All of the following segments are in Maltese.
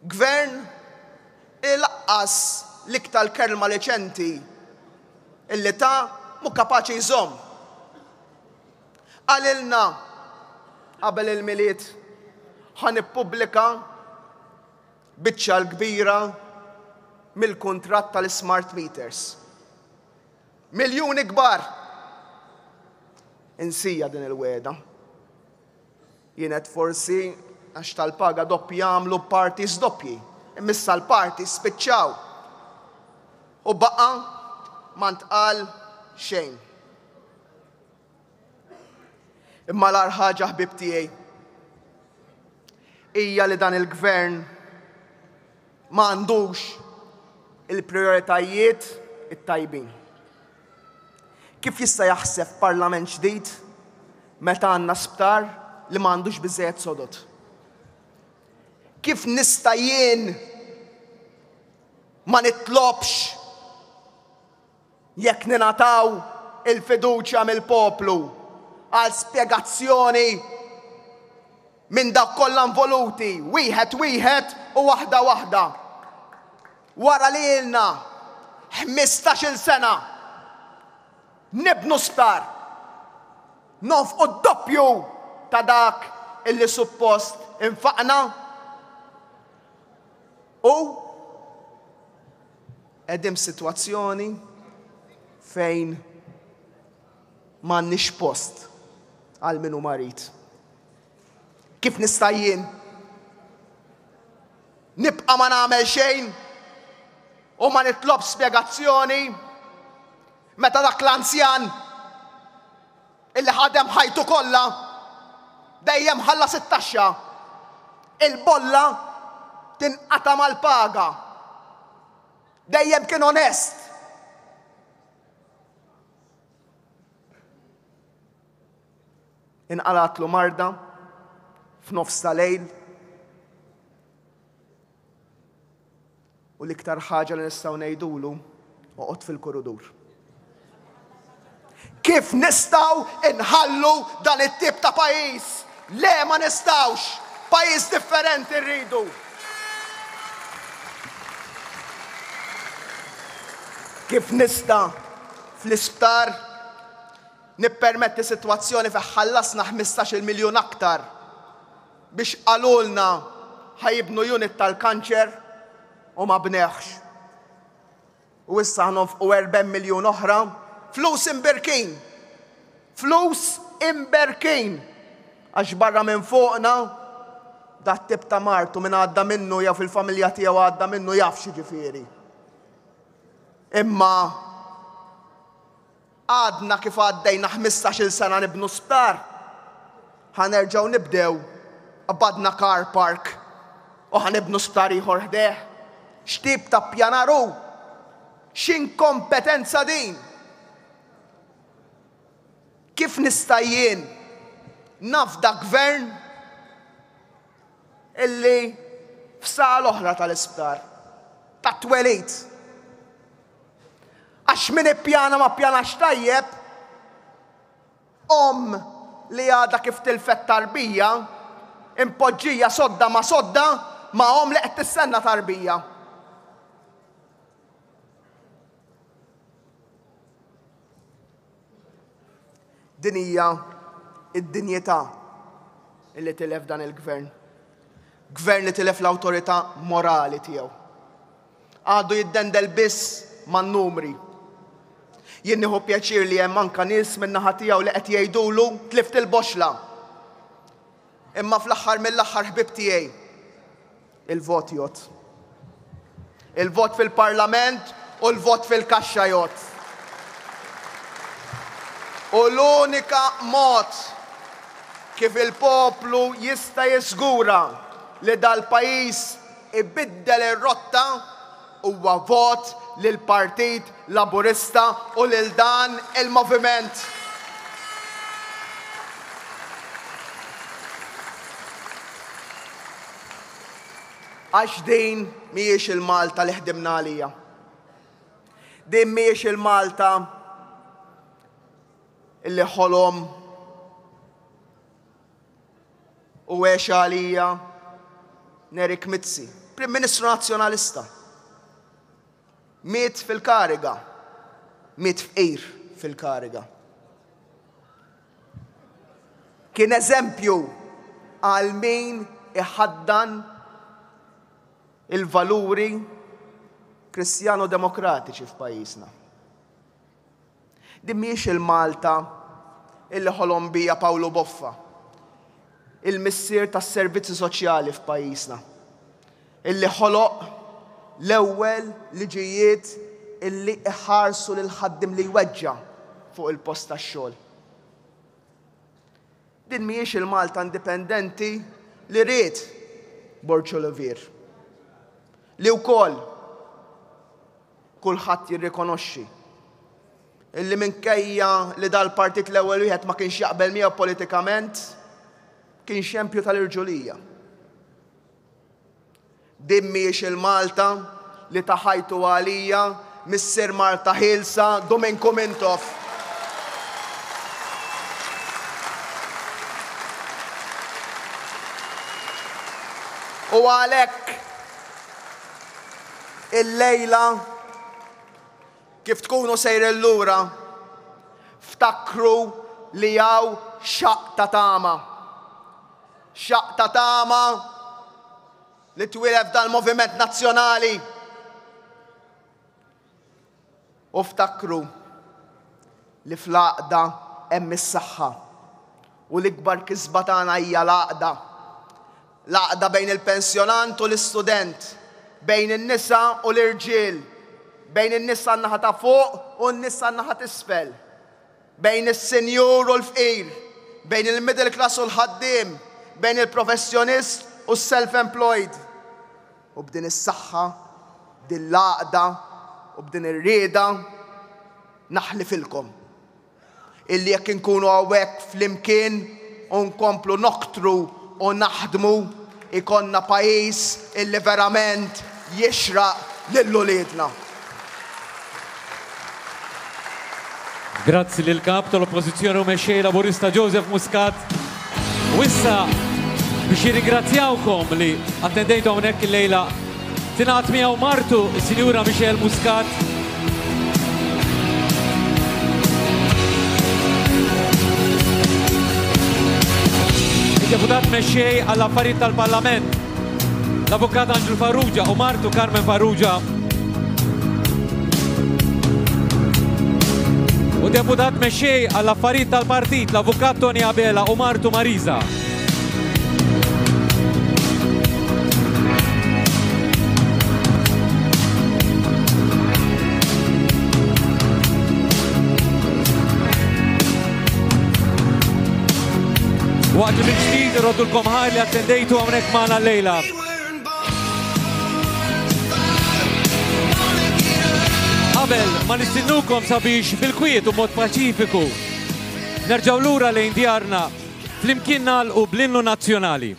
Gvern li laqqas l-iktar kelma reċenti illi ta mhu kapaċi jżomm. Qalilna qabel il-Milied ħa nippubblika biċċa l-kbira mill-kuntratt tal-ismart meters. Miljuni kbar! Insija din il-wegħda. Jien għedt forsi għax tal-paga doppja għamlu parties doppji. Imma issa l-parties spiċċaw. U baqa' ma ntqal xejn. Imma l-agħar ħaġa ħbieb tiegħi hija li dan il-gvern ma għandux il-prijoritajiet it-tajbin. Kif jista' jaħseb parlament ġdid meta għandna sptar li ma għandux biżżejjed sodod? Kif nista' jien ma nitlobx jekk ningħataw il-fiduċja mill-poplu għal spjegazzjoni minn dawk kollha involuti, wieħed wieħed u waħda waħda. Wara li ilna ħmistax-il sena nibnu sptar, nonfqu d-doppju ta' dak illi suppost infaqna u qegħdin f'sitwazzjoni fejn m'għandniex post għal min hu marid. Kif nista' jien nibqa' ma nagħmel xejn u ma nitlobx spjegazzjoni meta dak l-anzjan illi ħadem ħajtu kollha dejjem ħallas it-taxxa, il-bolla tinqata' mal-paga. Dejjem kien onest. Inqalatlu marda f'nofs ta' lejl U l-iktar ħaġa li nistgħu ngħidulu, oqgħod fil-kurudur. Kif nistgħu inħallu dan it-tip ta' pajjiż? Le ma nistgħux! Pajjiż differenti rridu. Kif nista' fl-isptar nippermetti sitwazzjoni fejn ħallasna 15-il miljun aktar biex qalulna ħa jibnu unit tal-kanċer u ma bnewhx. U issa ħa nonfqu 40 miljun oħra, flus imbirkin! Flus imberkin! Għax barra minn fuqna dat-tip ta' mard u min għadda minnu jew fil-familja tiegħu għadda minnu jaf x'jiġifieri. Imma Għadna kif għaddejna ħmistax-il sena nibnu sptar, ħa nerġgħu nibdew, qbadna car park u ħa nibnu sptar ieħor ħdejh. X'tip ta' ppjanar hu? X'inkompetenza din! Kif nista' jien nafda gvern illi f'sala oħra tal-isptar, tat-twelid, Għax min ippjana ma ppjanax tajjeb, omm li għadha kif tilfet tarbija, impoġġija sodda ma' sodda ma' omm li qed tistenna tarbija. Din hija d-dinjità li tilef dan il-gvern. Gvern li tilef l-awtorità morali tiegħu. Għadu jiddendel biss man-numri. Jien nieħu pjaċir li hemm anka nies min-naħa tiegħu li qed jgħidulu tlift il-boxla. Imma fl-aħħar mill-aħħar ħbieb tiegħi, il-vot jgħodd. Il-vot fil-Parlament u l-vot fil-kaxxa jgħodd. U l-unika mod kif il-poplu jista' jiżgura li dal-pajjiż ibiddel ir-rotta huwa vot lill-Partit Laburista u lil dan il-moviment. Għax din mhijiex il-Malta li ħdimna għalija. Din mhijiex il-Malta illi ħolom u għex għalija. Nerik Mizzi, Prim Ministru Nazzjonalista. Miet fil-kariga. Miet fqir fil-kariga. Kien eżempju għal min iħaddan il-valuri Kristjano-Demokratiċi f'pajjiżna. Din mhijiex il-Malta illi ħolom bija Pawlu Boffa, il-missier tas-servizzi soċjali f'pajjiżna, illi ħoloq l-ewwel liġijiet illi iħarsu lill-ħaddiem li jweġġa' fuq il-post tax-xogħol. Din mhijiex il-Malta indipendenti li ried Borg Olivier, li wkoll kulħadd jirrikonoxxi illi minkejja li dal-partit l-ewwel wieħed ma kienx jaqbel miegħu politikament, kien xempju tal-irġulija. Din mhijiex il-Malta li ta ħajtu għalija missier Malta ħielsa Duminku Mintoff. U għalhekk illejla kif tkunu sejrin lura ftakru li hawn xaqq ta' tama. Xaqq ta' tama li twieled f'dal-moviment nazzjonali. U ftakru li fl-għaqda hemm is-saħħa. U l-ikbar kisba tagħna hija l-għaqda. L-għaqda bejn il-pensjonant u l-istudent, bejn in-nisa u l-irġiel, bejn in-nisa n-naħa ta' fuq u n-nisa n-naħa t'isfel. Bejn is-sinjur u l-fqir, bejn il-middle class u l-ħaddiem, bejn il-professjonist u s-self-employed. U b'din is-saħħa, b'din l-għaqda u b'din ir-rieda naħlifilkom illi jekk inkunu hawnhekk flimkien u nkomplu noktru u naħdmu ikollna pajjiż illi verament jixraq lil uliedna. Grazzi lill-Kap tal-Oppożizzjoni u Mexxej Laburista Joseph Muscat. U issa biex jirringrazzjawkom li attendejtu hawnhekk illejla tingħaqad miegħu martu is-Sinjura Michelle Muscat. Id-Deputat Mexxej għall-Affarijiet tal-Parlament, l-Avukat Anġlu Farrugia u martu Carmen Farrugia. U Deputat Mexxej għall-Affarijiet tal-Partit, l-Avukat Tony Abela u martu Marisa. Waqt li mill-ġdid irroddulkom ħajr li attendejtu hawnhekk magħna llejla. Qabel ma nistinnukom sabiex bil-kwiet u mod paċifiku nerġgħu lura lejn djarna flimkien nagħlqu bl-innu nazzjonali.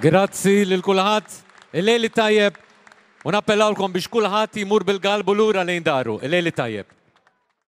Grazzi lil kulħadd. Il-lejl it-tajjeb u nappellawlkom biex kulħadd jmur bil-galbu lura lejn daru. Il-lejl it-tajjeb.